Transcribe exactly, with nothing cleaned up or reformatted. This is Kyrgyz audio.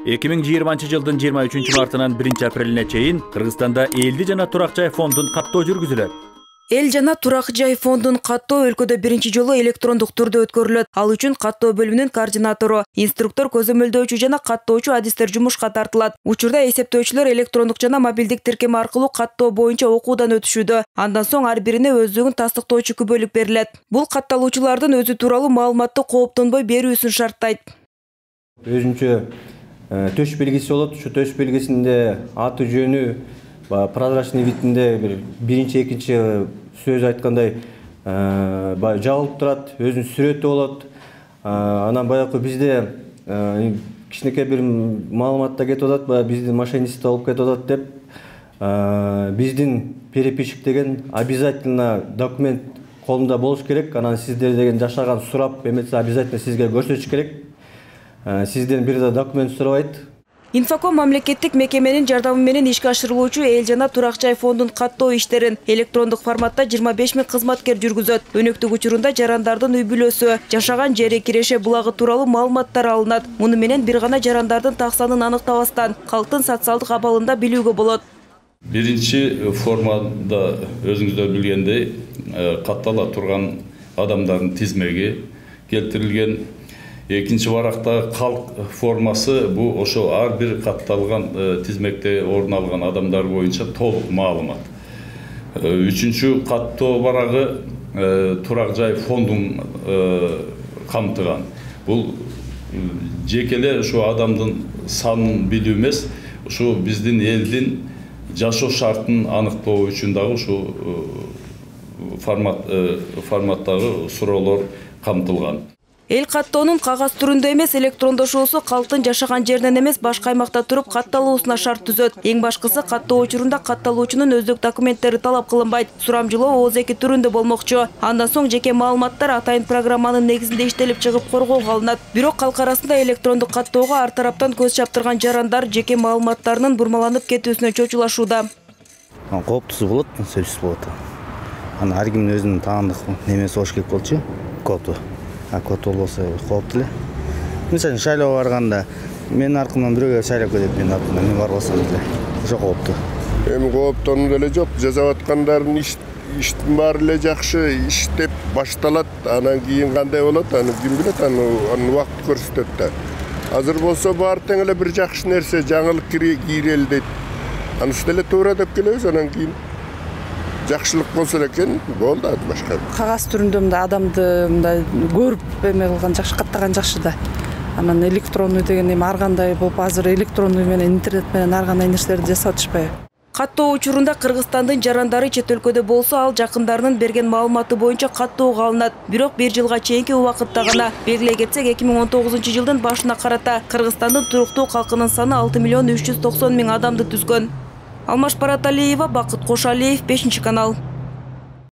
эки миң жыйырманчы жылдын жыйырма үчүнчү мартынан биринчи апрелине чейин Кыргызстанда элди жана турак жай фондун каттоо жүргүзүлөт. Эл жана турак жай фондун каттоо өлкөдө биринчи жолу электрондук түрдө өткөрүлөт. Ал үчүн каттоо бөлүмүнүн координатору, инструктор, көзөмөлдөөчү жана каттоочу адистер жумушка тартылат. Учурда эсептөөчүлөр электрондук жана мобилдик тиркеме аркылуу каттоо боюнча окуудан өтүшүүдө. Андан соң ар бирине өздүгүн тастыктоочу күбөлүк берилет. Бул катталуучулардын өзү тууралуу маалыматты кооптонбой берүүсүн шарттайт. Өзүнчө төш белгиси болот. Ушу төш белгисинде аты жөнү, прозрачный видинде бир биринчи, экинчи сөз айткандай жабылып турат, өзүнүн сүрөтү болот. Анан баягы бизде кичинекей бир маалыматта кетип атат, баягы биздин мошенничество болуп кетип атат деп, биздин переписчик деген обязательно документ колунда болуш керек. Анан сиздер деген жашаган сурап эметсе обязательно сизге көрсөтүш керек. Сизден бир да документ сурабайт. Инфоком мамлекеттик мекеменин жардамы менен ишке ашырылуучу эл жана турак жай фондун каттоо иштерин электрондук форматта жыйырма беш миң кызматкер жүргүзөт. Өнөктүк учурунда жарандардын үй бүлөсү, жашаган жери, киреше булагы тууралуу маалыматтар алынат. Муну менен бир гана жарандардын так санын аныктабастан калктын социалдык абалында билүүгө болот. Биринчи формада өзүңүздөр билгендей каттала турган адамдардын тизмеги келтирилген. Экинчи баракта калк формасы бу ошо ар бир катталган тизмекте орун алган адамдар боюнча толук маалымат. Үчүнчү каттоо барагы турак жай фондун камтыган. Бул жекеле ушу адамдын санын билүү эмес, ушу биздин элдин жашоо шартын аныктоо үчүн дагы ушу формат форматтагы суроолор камтылган. Эл каттоонун кагаз түрүндө эмес электрондошуусу калктын жашаган жеринен эмес башка аймакта туруп катталуусуна шарт түзөт. Эң башкысы каттоо учурунда катталуучунун өздүк документтери талап кылынбайт. Сурамжылоо ооз эки түрүндө болмокчу. Андан соң жеке маалыматтар атайын программанын негизинде иштелип чыгып коргоого алынат. Бирок калк арасында электрондук каттоого ар тараптан көз чаптырган жарандар жеке маалыматтарынын бурмаланып кетүүсүнө чочулашууда. Кооптусу болот, сөзсүз болот. Аны ар кимдин өзүнүн таандык немеси болуш керек болчу. Коопту. А код болбосо кооптуу эле. Мисалы шайлоого барганда менин аркымдан бирөөгө шайлап кетет, менин аркымдан мен барбасам деле. Ошо кооптуу. Эми кооптонуу деле жок. Жасап аткандардын иштин баары эле жакшы иштеп башталат. Анан кийин кандай болот, аны ким билет, аны убакыт көрсөтөт да. Азыр болсо баары тең эле бир жакшы нерсе, жаңылык кирели дейт. Анысы деле туура деп келебиз, анан кийин жакшылык болсо экен, болду башка. Кагаз түрүндө мындай адамды мындай көрүп эме кылган жакшы, каттаган жакшы да. Анан электрондуу деген эми ар кандай болуп, азыр электрондуу менен интернет менен ар кандай нерселерди жасап атышпайбы? Каттоо учурунда Кыргызстандын жарандары чет өлкөдө болсо, ал жакындарынын берген маалыматы боюнча каттоого алынат. Бирок бир жылга чейинки убакытта гана. Белгилей кетсек, эки миң он тогузунчу жылдын башына карата Кыргызстандын туруктуу калкынын саны алты миллион үч жүз токсон миң адамды түзгөн. Алмаш Параталиева, Бакыт Кошалиев, бешинчи канал.